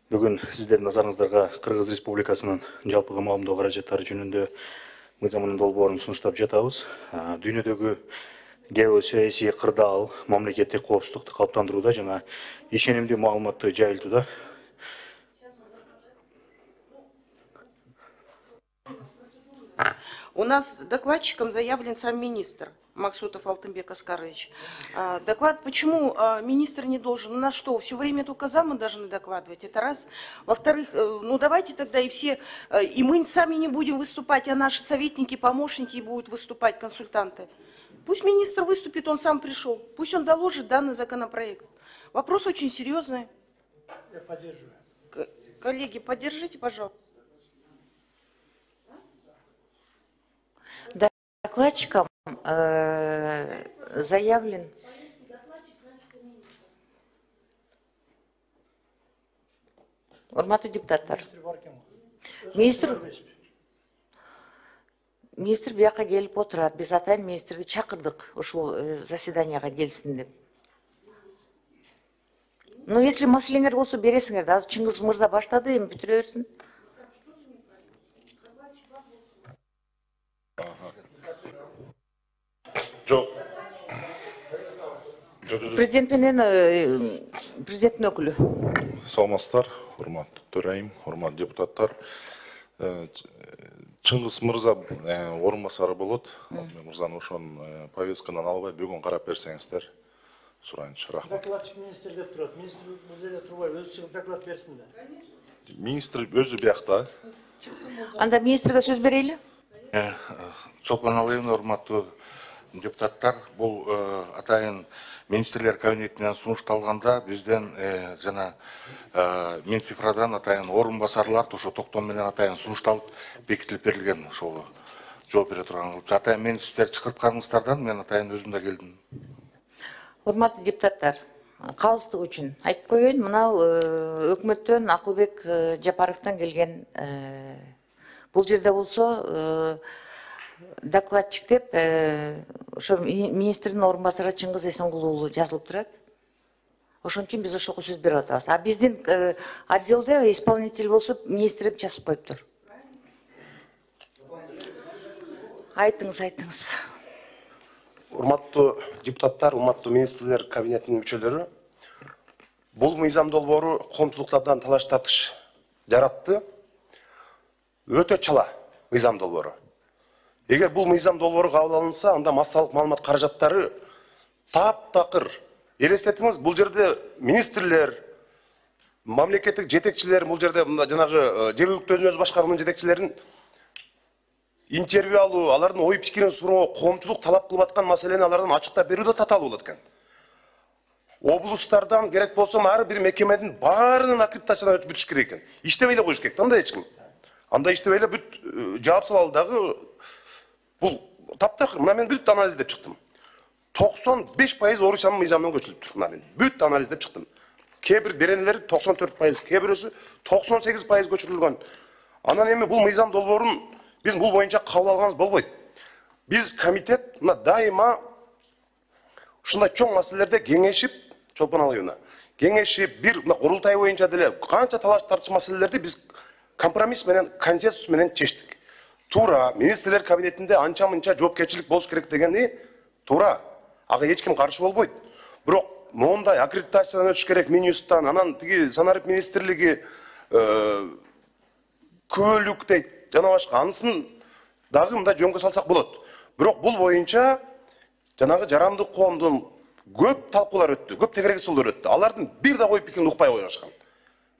Бүгүн сиздердин назарыңыздарга Кыргыз Республикасынын жалпы камалымдоо каражаттары жөнүндө мыйзамдын долбоорун сунуштап жатабыз. Дүйнөдөгү геосаясий кырдаал мамлекеттик коопсуздукту калыптандырууда жана ишенимдүү маалыматты жайылтууда У нас докладчиком заявлен сам министр Максутов Алтынбек Аскарович. Доклад, почему министр не должен? У нас что, все время только замы должны докладывать? Это раз. Во-вторых, ну давайте тогда и все, и мы сами не будем выступать, а наши советники, помощники будут выступать, консультанты. Пусть министр выступит, он сам пришел. Пусть он доложит данный законопроект. Вопрос очень серьезный. Я поддерживаю. Коллеги, поддержите, пожалуйста. Докладчиком заявлен. Урматтуу депутаттар. Министр бияка келип отурат. Биз атайын министрди чакырдык ушул заседанияга келсин деп. Ну, если маселеңер болсо бересиңер да, азыр Чыңгыз мырза баштады, эми бүтүрө берсин. Жоқ. Президенттин өкүлү. Саламатсыздар, урматтуу төрайым, урматтуу депутаттар. Чыңгыз мырза орун басары болот. Мырзаны ошон повесткадан албай бүгүн карап берсеңиздер. Сурайынчы, рахмат. Докладчик министр деп турат. Министр бул жерде турбай өзү чыгып доклад берсин да. Министр өзү биякта. Анда министрге сөз берели. Чолпон Алиевна, урматтуу депутаттар, бул атайын министрлер кабинетинен сунушталганда бизден жана Минцифрадан атайын орун басарлар ошо токтом менен атайын сунушталып бекитилип берилген, ошол жооп бере турган кылып. Атайын мен сиздер чакыртканыңыздардан мен атайын өзүм да келдим. Урматтуу депутаттар, калыстык үчүн айтып коеюн, мынау өкмөттөн Акылбек Жапаровдон келген бул жерде болсо докладчик деп ошо министрдин орун басары Чыңгыз Эсенгул уулу жазылып турат. Ошон үчүн биз ошого сөз берип атабыз. А биздин отделде исполнитель болсо министр деп жазып коюптур. Айтыңыз. Урматтуу депутаттар, урматтуу министрлер кабинетинин мүчөлөрү, бул мыйзам долбоору коомчулуктардан талаш тартыш жаратты. Өтө чала мыйзам долбоору. Эгер бул мыйзам долбоору кабыл алынса, анда массалык маалымат каражаттары таптакыр. Элестетиңиз, бул жерде министрлер, мамлекеттик жетекчилер, бул жерде жанагы жергиликтүү өзүн-өзү башкаруунун жетекчилерин интервью алуу, алардын ой пикирин суроо, коомчулук талап кылып аткан маселени алардан ачыктап берүү да татаал болот экен. Облустардан керек болсо ар бир мекемедин баарынын аккредитациядан өтүп бүтүш керек экен. Иштебей эле коюш керек. Андай эч ким. Анда иштебей эле бүт жаап салалы дагы бул таптакыр. Мына мен бүт анализ деп чыктым. 95% Орусиянын мыйзамынан көчүлүптүр. Мына мен бүт анализ деп чыктым. Кээ бир беренелери 94%, кээ бирөөсү 98% көчүрүлгөн. Анан эми бул мыйзам долбоорун биз бул боюнча кабыл алганыбыз болбойт. Биз комитет мына дайыма ушундай чоң маселелерде кеңешип, Чолпон Алиевна, кеңешип бир курултай боюнча деле канча талаш тартыш маселелерди биз компромисс менен, консенсус менен чечтик. Туура, министрлер кабинетинде анча-мынча жоопкерчилик болуш керек дегени туура. Ага эч ким каршы болбойт. Бирок моундай аккредитациядан өтүш керек, Минюсттан, анан тиги санарип министрлиги көөлүк дейт, жана башка анысын дагы мындай жөнгө салсак болот. Бирок бул боюнча жанагы жарандык коомдун көп талкуулар өттү, көп тегереги столдор өттү. Алардын бир да ой пикирин укпай коюшкан.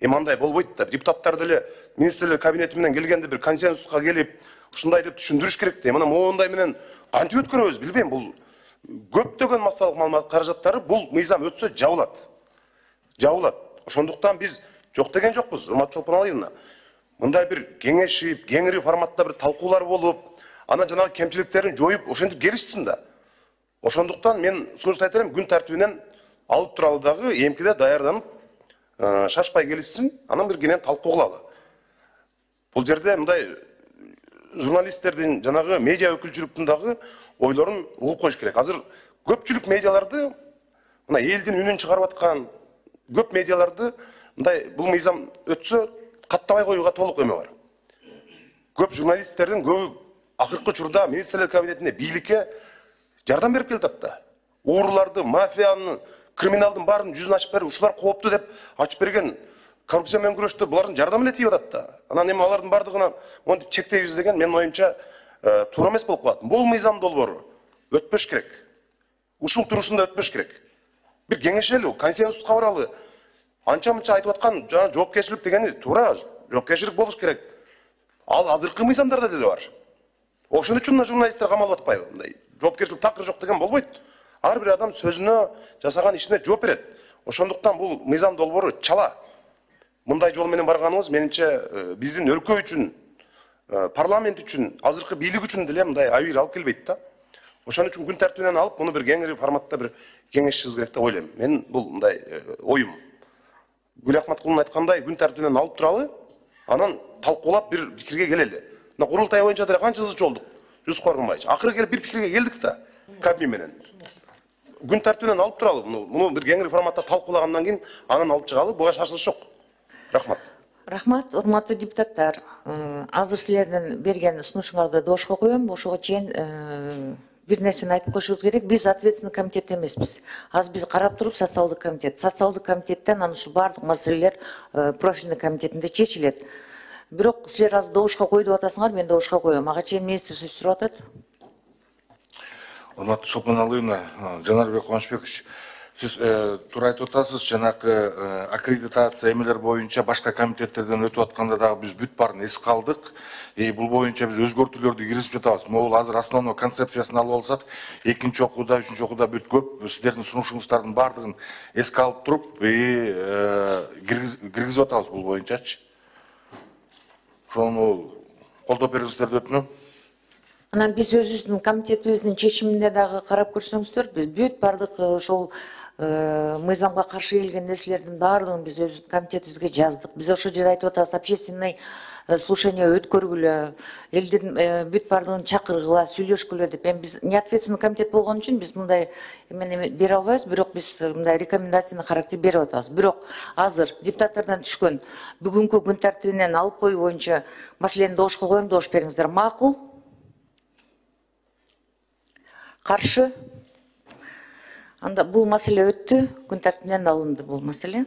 Эми андай болбойт да. Депутаттар деле министрлер кабинети менен келгенде бир консенсуска келип, ушундай деп түшүндүрүш керек да. Мына моундай менен кантип өткөрөбүз билбейм. Бул көптөгөн массалык маалымат каражаттары бул мыйзам өтсө жабылат. Ошондуктан биз жок деген жокпуз, урматтуу Чолпон Алиевна. Мындай бир кеңешип, кеңири форматта бир талкуулар болуп, анан жанагы кемчиликтерин жоюп, ошентип келишсин да. Ошондуктан мен сунуштайт элем, күн тартибинен алып туралы дагы эмкиде даярданып, шашпай келишсин, анан бир кенен талкуу кылалы. Бул жерде мындай журналисттердин, жанагы медиа өкүлчүлүктүн дагы ойлорун угуп коюш керек. Азыр көпчүлүк медиаларды, мына элдин үнүн чыгарып аткан көп медиаларды мындай бул мыйзам өтсө каттабай коюуга толук эме бар. Көп журналисттердин көбү акыркы учурда министрлер кабинетине бийликке жардам берип келатат да. Ууруларды, мафияны, криминалдын баарын жүзүн ачып берип, ушулар кооптуу деп ачып берген коррупция менен күрөштө булардын жардамы эле тийип атат да. Анан эми алардын бардыгына монтип чектейбиз деген менин оюмча туура эмес болуп калат. Бул мыйзам долбоору өтпөш керек. Ушул турушунда өтпөш керек. Бир кеңешели, консенсуска баралы. Анча-мынча айтып аткан жана жоопкерчилик дегени туура, жоопкерчилик болуш керек. Ал азыркы мыйзамдарда деле бар. Ошон үчүн журналисттер камалып атпайбы? Мындай жоопкерчилик такыр жок деген болбойт. Ар бир адам сөзүнө, жасаган ишине жооп берет. Ошондуктан бул мыйзам долбоору чала. Мындай жол менен барганыбыз менимче биздин өлкө үчүн, парламент үчүн, азыркы бийлик үчүн деле мындай абийир алып келбейт да. Ошон үчүн күн тартибинен алып, муну бир кеңири форматта бир кеңешишибиз керек деп ойлойм. Мен бул мындай оюм. Гүл Ахматкулдун айткандай күн тартибинен алып туралы, анан талкуулап бир пикирге келели. Мына курултай боюнча деле канча ызы чолдук. Жүз Коргонбаевич. Акыры келип бир пикирге келдик да. Кабмин менен. Күн тартибинен алып туралы. Муну бир кеңири форматта талкуулагандан кийин анан алып чыгалы. Буга шашылыш жок. Рахмат. Рахмат, урматтуу депутаттар. Азыр силердин берген сунушуңарды доошко коем. Ошого чейин бир нерсени айтып коюшубуз керек. Биз ответственный комитет эмеспиз. Азыр биз карап туруп социалдык комитет. Социалдык комитеттен анан ушу бардык маселелер профильный комитетинде чечилет. Бирок силер азыр доошко кой деп атасыңар, мен доошко коем. Ага чейин министр сөз сурап атат. Урматтуу Чолпон Алыевна, Жанарбек Кубанычбекович, сиз туура айтып атасыз, жанакы аккредитация эмелер боюнча башка комитеттерден өтүп атканда дагы биз бүт баарын эске алдык. Бул боюнча биз өзгөртүүлөрдү киргизип жатабыз. Могул азыр основной концепциясын алып алсак, экинчи окууда, үчүнчү окууда бүт көп сиздердин сунушуңуздардын баардыгын эске алып туруп, киргизип атабыз бул боюнчачы. Ошону колдоп бериңиздер өтүнөм. Анан биз өзүбүздүн комитетибиздин чечиминде дагы карап көрсөңүздөр, биз бүт бардык ошол мыйзамга каршы келген нерселердин баардыгын биз өзүбүздүн комитетибизге жаздык. Биз ошол жерде айтып атабыз, общественный слушание өткөргүлө, элдин бүт бардыгын чакыргыла, сүйлөшкүлө деп. Эми биз неответственный комитет болгон үчүн биз мындай эмени бере албайбыз, бирок биз мындай рекомендацияны характер берип атабыз. Бирок азыр депутаттардан түшкөн бүгүнкү күн тартибинен алып коюу боюнча маселени доошко коем, доош бериңиздер. Макул? Каршы? Анда бул маселе өттү, күн тартибинен алынды бул маселе.